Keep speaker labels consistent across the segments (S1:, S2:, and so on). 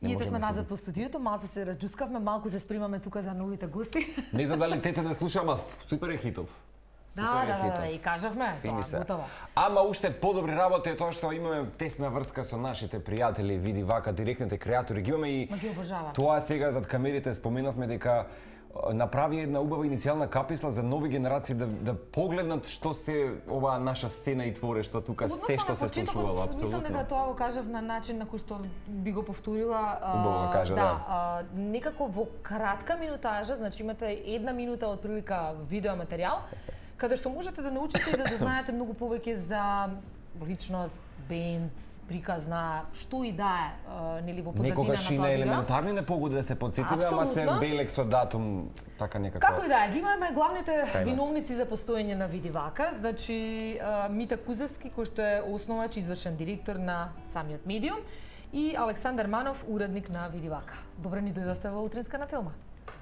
S1: Ние сме назад во студиото, малку се разџускавме, малку се спремаме тука за новите гости.
S2: Не знам дали тете да слушам, супер е хитов.
S1: Да, и кажавме, тоа готово.
S2: Ама уште подобри работа е тоа што имаме тесна врска со нашите пријатели, види вака, директните креатори ги имаме и тоа сега зад камерите споменавме дека направи една убава иницијална каписла за нови генерации да погледнат што се оваа наша сцена и творештво тука, се што се случувало апсолутно.
S1: Мислам дека тоа го кажав на начин на кој што би го повторила.
S2: Убаво кажа, да.
S1: Некако во кратка минутажа, значи имате 1 минута од прилика видео материјал, каде што можете да научите и да дознаете многу повеќе за личност, бенд, приказна, што и да е, нели во позадина на тоа.
S2: Некогаш и на елементарни не погоди да се подсетиме, ама се белек со датум, така некако.
S1: Како и да е, ги имаме главните виновници за постоење на Види вака, значи Мита Кузевски, кој што е основач и извршен директор на самиот медиум, и Александар Манов, уредник на Види вака. Добре ни дојдовте во утринска на Телма.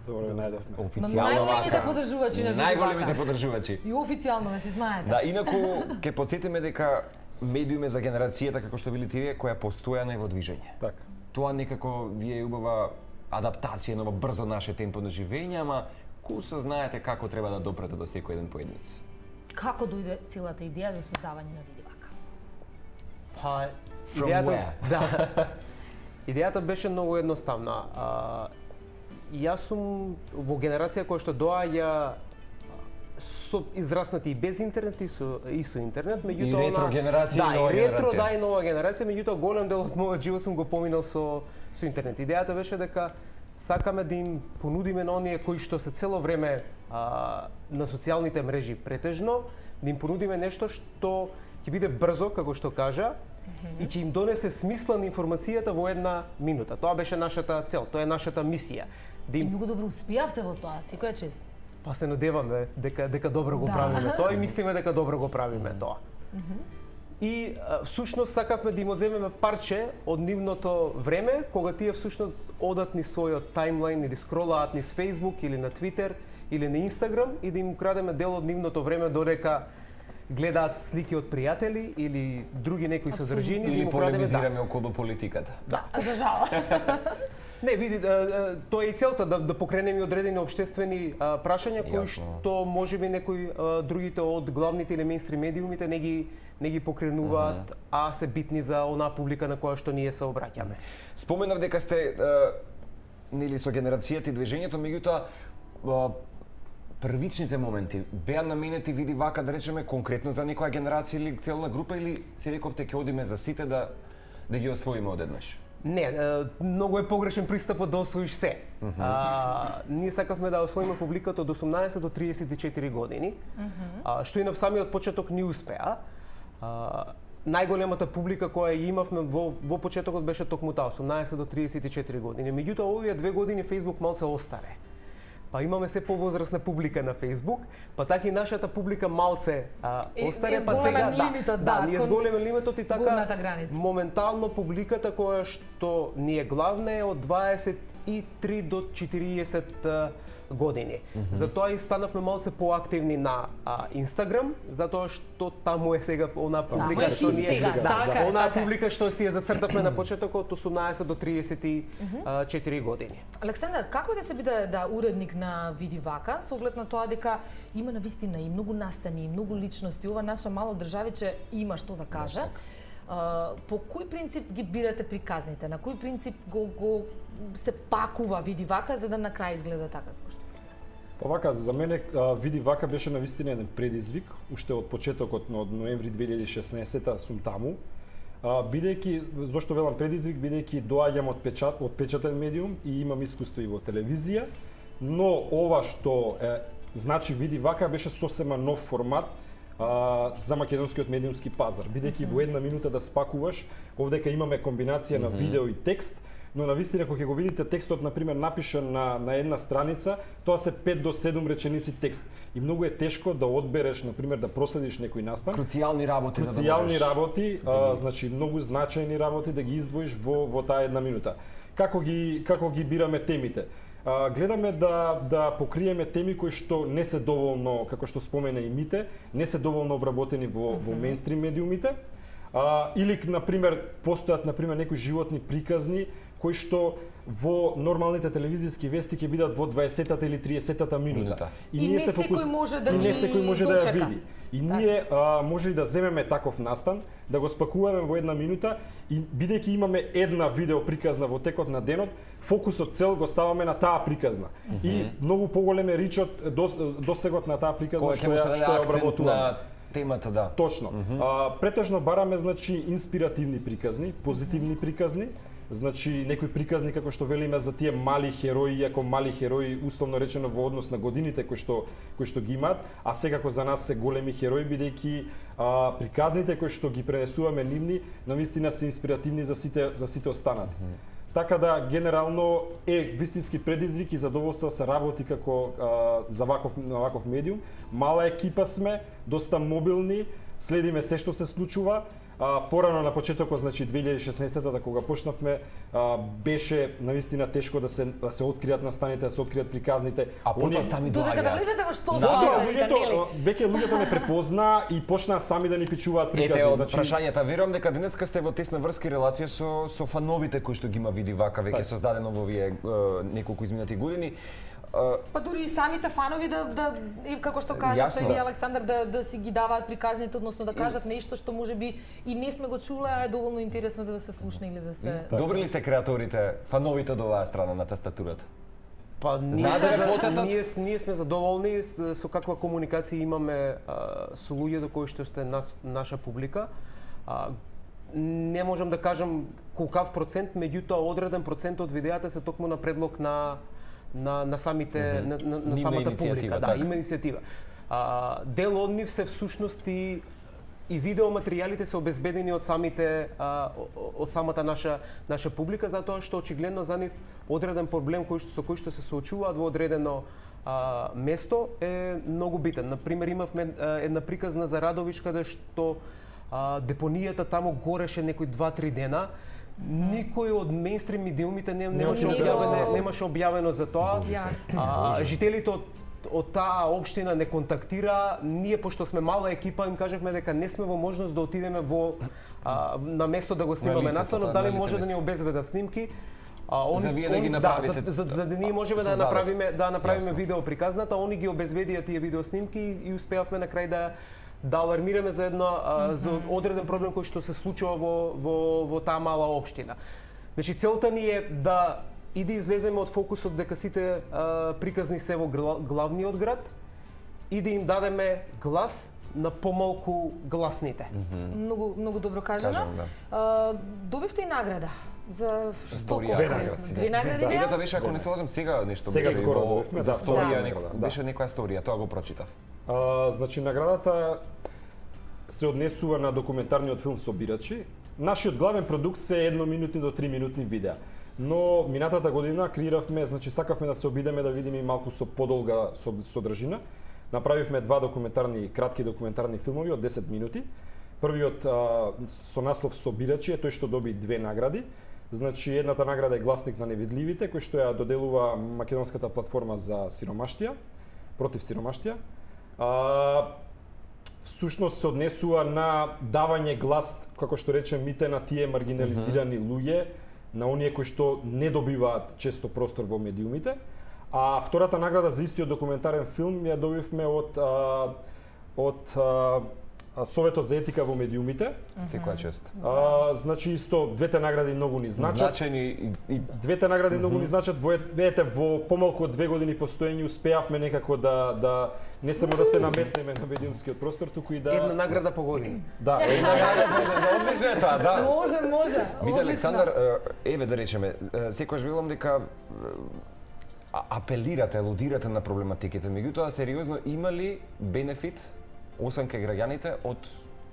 S3: Добро најдовме.
S2: Официјално
S1: најголемите поддржувачи на Види вака.
S2: Најголемите поддржувачи.
S1: И официјално да си знаете.
S2: Да, инаку ќе потсетиме дека медиум е за генерацијата како што били тие која постојана е во движење.
S3: Така.
S2: Тоа некако ви е убава адаптација на брзо наше темпо на живење, ама курсо знаете како треба да допрете до секој еден поединец.
S1: Како дојде целата идеја за создавање на Види вака?
S3: Па идејата беше многу едноставна. Јас сум во генерација која што доаѓа со израснати и без интернет и со интернет, меѓутоа
S2: и ретро генерација и нова
S3: генерација. Да, и нова генерација, меѓутоа голем дел од мојот живот сум го поминал со интернет. Идејата беше дека сакаме да им понудиме на оние кои што се цело време на социјалните мрежи претежно, да им понудиме нешто што ќе биде брзо, како што кажа, и ќе им донесе смисла на информацијата во 1 минута. Тоа беше нашата цел, тоа е нашата мисија.
S1: И многу добро успеавте во тоа, секоја чест.
S3: Па се надеваме дека добро го правиме тоа и мислиме дека добро го правиме тоа. И всушност сакавме да им одземеме парче од нивното време, кога тие всушност одат низ својот таймлайн или скролаат низ Facebook или на Twitter или на Instagram и да им украдеме дел од нивното време додека гледаат слики од пријатели или други некои содржини
S2: или полемизираме околу политиката.
S1: Да, за жал.
S3: Не, види, тоа е и целта да покренеме одредени општествени прашања кои што можеби некои другите од главните или мејнстрим медиумите не ги покренуваат, а се битни за онаа публика на која што ние се обраќаме.
S2: Споменав дека сте нели со генерацијата и движењето, меѓутоа првичните моменти беа наменети Види вака, да речеме, конкретно за некоја генерација или целна група, или се рековте ќе одиме за сите да ги освоиме одеднаш?
S3: Не, многу е погрешен пристапот да освоиш се. Ние сакавме да освоиме публиката од 18 до 34 години, што и на самиот почеток ни успеа. Најголемата публика која имавме во почетокот беше токму таа, 18 до 34 години. Меѓутоа, овие 2 години Facebook малце остаре. Па имаме се повозрасна публика на Facebook, па така и нашата публика малце остаре, па сега ние зголеме лимитот и така моментално публиката која што ни е главна е од 23 до 40 години. Затоа и станавме малце поактивни на Instagram, затоа што таму е сега онаа публика што ние онаа публика што си ја зацртавме на почетокот од 18 до 34 години.
S1: Александар, како да се биде уредник на Види вака, со оглед на тоа дека има навистина и многу настани, и многу личности, ова наша мало државиче има што да каже. По кој принцип ги бирате приказните? На кој принцип го се пакува Види вака за да на крај изгледа така како што се?
S3: Па вака, за мене Види вака беше навистина еден предизвик, уште од почетокот од ноември 2016 сум таму. Бидејќи, зошто велам предизвик, бидејќи доаѓам од печатен медиум и имам искуство и во телевизија, но ова што значи Види вака беше сосема нов формат за македонскиот медиумски пазар, бидејќи во 1 минута да спакуваш, овдека имаме комбинација на видео и текст, но навистина кога ќе го видите текстот на пример напишан на една страница, тоа се 5 до 7 реченици текст и многу е тешко да одбереш на пример да проследиш некој настан.
S2: Круцијални работи
S3: значи многу значајни работи да ги издвоиш во таа 1 минута. Како ги бираме темите? Гледаме да покриеме теми кои што не се доволно, како што спомена и Мите, не се доволно обработени во мејнстрим медиумите, или на пример постојат на пример некои животни приказни
S4: кои што во нормалните телевизиски вести ќе бидат во 20-та или 30-та минута.
S1: И не секој може да ги
S4: ја види. И ние може и да земеме таков настан, да го спакуваме во една минута и бидејќи имаме една видео приказна во текот на денот, фокусот цел го ставаме на таа приказна. И многу поголем е ричот досегот на таа приказна што ја обработуваме.
S2: Темата, да.
S4: Точно. Претежно бараме, значи, инспиративни приказни, позитивни приказни, значи некои приказни како што велиме за тие мали херои, иако мали херои условно речено во однос на годините кои што ги имаат, а секако за нас се големи херои бидејќи приказните кои што ги пренесуваме нивни навистина се инспиративни за сите останати. Така да генерално е вистински предизвик и задоволство да се работи како за ваков медиум. Мала екипа сме, доста мобилни, следиме се што се случува. Порано на почетокот, значи 2016-та кога почнавме, беше навистина тешко да се откријат настаните, да се откријат приказните.
S2: А потоа сами доаѓаат.
S1: Додека да влезете во што става,
S4: веќе луѓето не препозна и почнаа сами да ни пичуваат приказни.
S2: Ете, од прашањата, верувам дека денеска сте во тесна врска и релација со фановите кои што ги има Види Вака, веќе создадено во овие неколку изминати години.
S1: Па дури и самите фанови како што кажавте и ви Александар, да си ги даваат приказните, односно да кажат нешто што можеби и не сме го чуле, а е доволно интересно за да се слушне или да се...
S2: Добри ли се креаторите, фановите од оваа страна на тастатурата?
S3: Па ние сме задоволни со каква комуникација имаме со луѓето кои што сте наша публика. Не можам да кажам колкав процент, меѓутоа одреден процент од видеата се токму на предлог на самите на самата публика, да, има иницијатива. Дел од нив се всушност и видеоматеријалите се обезбедени од самата наша публика, затоа што очигледно за нив одреден проблем со кој што се соочуваат во одредено место е многу битен. Например, имавме една приказна за Радовиш каде што депонијата таму гореше некои 2-3 дена. Никој од мејнстрим медиумите немаше објавено за тоа. Жителите од таа општина не контактира. Ние, пошто сме мала екипа, им кажавме дека не сме во можност да отидеме на место да го снимаме настанот, дали може да ни обезбедат снимки.
S2: За вие да ги направите.
S3: За да ние можеме да направиме видео приказната, они ги обезбедија тие видео снимки и успеавме на крај да алармираме за за одреден проблем кој што се случува во таа мала општина. Значи целта ни е да излеземе од фокусот дека сите приказни се во главниот град и да им дадеме глас на помалку гласните.
S1: Многу добро кажано. Добивте и награда за
S2: сторија.
S1: Две награди беа?
S2: Едната беше, ако не се лажам, сега нешто
S4: сега скоро добивме
S2: за сторија, беше некоја сторија, тоа го прочитав.
S4: Значи наградата се однесува на документарниот филм Собирачи. Нашиот главен продукт се 1-минутни до 3-минутни видеа. Но минатата година креиравме, значи сакавме да се обидеме да видиме малку со подолга содржина. Направивме кратки документарни филмови од 10 минути. Првиот со наслов Собирачи е тој што доби 2 награди. Значи едната награда е Гласник на невидливите, кој што ја доделува македонската платформа за сиромаштија, против сиромаштија. Всушност се однесува на давање глас, како што речемите, на тие маргинализирани луѓе, на оние кои што не добиваат често простор во медиумите. А втората награда за истиот документарен филм ја добивме од Советот за етика во медиумите.
S2: Секоја чест.
S4: Значи исто двете награди многу ни значат. Двете награди многу ни значат. Видете, во помалку од 2 години постоење успеавме некако да не само да се наметнеме на медиумскиот простор, туку и да
S3: една награда по година.
S4: Да, една награда
S2: одлично е тоа, да.
S1: Може.
S2: Виде Александар, еве да речеме, секогаш велам дека апелирате, алудирате на проблематиките, меѓутоа сериозно има ли бенефит освен кај граѓаните од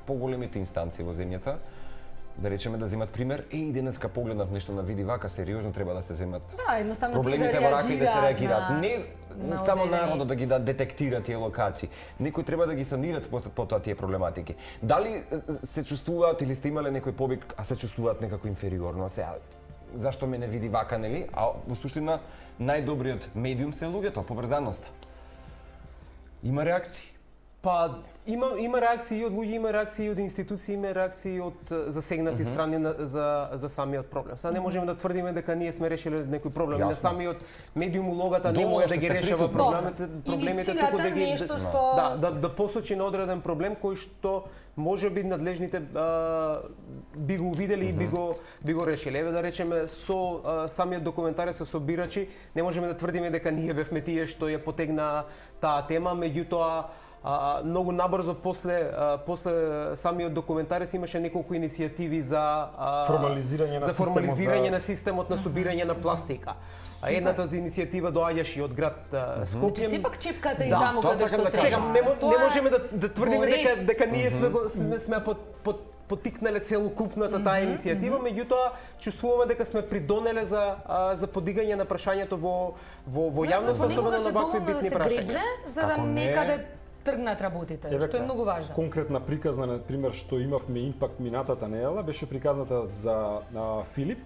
S2: поголемите инстанции во земјата, да речеме да земат пример, и денеска погледнав нешто на Види Вака, сериозно треба да се земат проблемите во рака и да се реагираат. Не само народот да ги детектира тие локации, некои треба да ги санират потоа тие проблематики. Дали се чувствуваат или сте имале некој повик, а се чувствуваат некако инфериорно, сега зашто ме не Види Вака, нели? А во суштина најдобриот медиум се луѓето, поврзаноста. Има реакции.
S3: Па има реакции од луѓе, има реакции од институции, има реакции од засегнати страни за самиот проблем. Сега не можеме да тврдиме дека ние сме решиле некој проблем, не самиот медиум улогата не може да ги решава проблемите туку да ги да посочи на одреден проблем кој што можеби надлежните би го увидели и би го решиле. Еве да речеме со самиот документарец со бирачи, не можеме да тврдиме дека ние бевме тие што ја потегна таа тема, меѓутоа многу набрзо после самиот документарец имаше неколку иницијативи за формализирање на системот на собирање на пластика. А едната од иницијатива доаѓаше од град Скопје.
S1: Сепак чепката и таму каде што треба.
S3: Не можеме да тврдиме дека ние сме поттикнале целокупната таа иницијатива, меѓутоа чувствуваме дека сме придонеле за подигање на прашањето во јавноста, особено на вакви битни прашања.
S1: За да некаде тргнат работите, што е многу важно.
S4: Конкретна приказна, на пример, што имавме импакт минатата недела, беше приказната за Филип,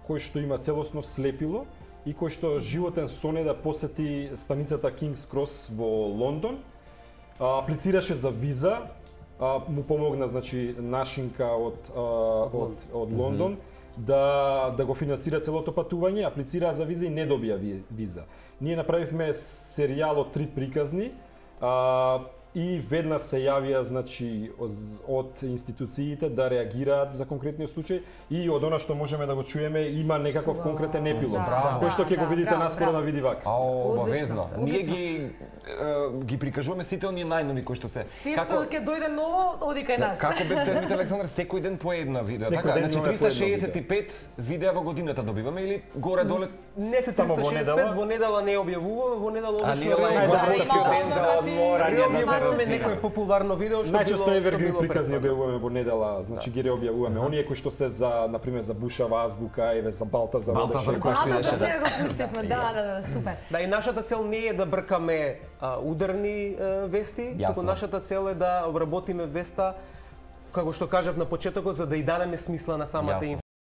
S4: кој што има целосно слепило и кој што животен соне да посети станицата Кингс Крос во Лондон. Аплицираше за виза, му помогна значи нашинка од Лондон да го финансира целото патување, аплицира за виза и не добија виза. Ние направивме серијал од 3 приказни. И веднаш се јавија значи од институциите да реагираат за конкретниот случај и од она што можеме да го чуеме има некаков конкретен епилог кој што ќе го видите наскоро на Видивака.
S2: Обавезно. Ние ги прикажуваме сите оние најнови кои што се.
S1: Се што ќе дојде ново, оди кај нас.
S2: Како бевте Ермите Александар, секој ден по една видео, така? Значи 365 видеа во годината добиваме или горе-доле
S3: не се само во недела. Во недела не објавуваме, во недела обично
S2: Господскиот ден за одморање.
S3: Имаме некој популарно видео што
S4: најчесто евергрин приказни објавуваме во недела, значи ги реобјавуваме. Оние кои што се за на пример за Бушава азбука, еве за Балтазар,
S1: кој што беше. Да, го пуштивме. Да, супер.
S3: Да, и нашата цел не е да бркаме ударни вести, туку нашата цел е да обработиме веста како што кажав на почетокот, за да и дадеме смисла на самата